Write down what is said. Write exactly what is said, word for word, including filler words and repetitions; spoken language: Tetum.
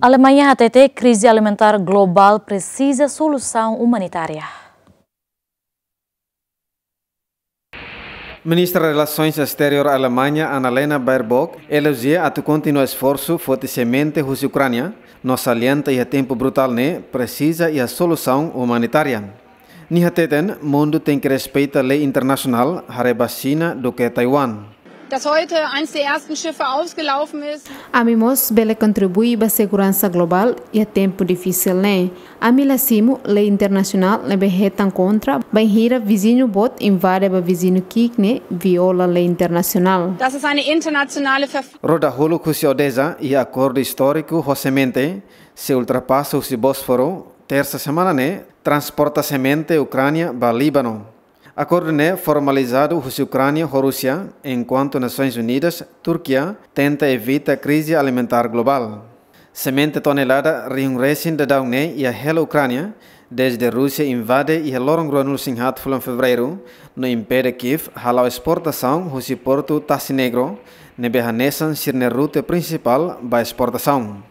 Alemanha hatete krize alimentár globál presiza solusaun umanitária. Ministra Relasoens Exteriór Alemanha, Annalena Baerbock, elojia atu kontinua esforsu foti semente husi Ukránia, no salienta iha tempu brutál ne'e presiza iha solusaun umanitária. Nia hateten, mundu tenke respeita lei internasionál, haree ba Xina duké Taiwan. Dass heute eines der ersten Schiffe ausgelaufen ist. Ami mós bele kontribui ba seguransa globál iha tempu difisil ne'e. Ami la simu lei internasionál ne'ebé hetan kontra bainhira viziñu boot invade ba viziñu ki'ik ne'e viola lei internasionál. Das ist eine internationale Verpflichtung. Roda huluk husi Odesa iha akordu istóriku ho semente, sei ultrapasa husi Bósforu, tersa semana ne'e, transporta semente Ukránia ba Líbanu. Akordu ne'e formalizadu husi Ukránia ho Rúsia, enkuantu Nasoins Unidas, Turkia, tenta evita krize alimentár globál. Semente tonelada rihun resin daudaun ne'e iha hela Ukránia, dezde Rúsia invade iha loron ruanulu-resin-haat fulan Fevereiru, no impede Kiev hala'o esportasaun husi portu Tasi Negro, ne'ebé hanesan sira-nia rute prinsipál ba esportasaun.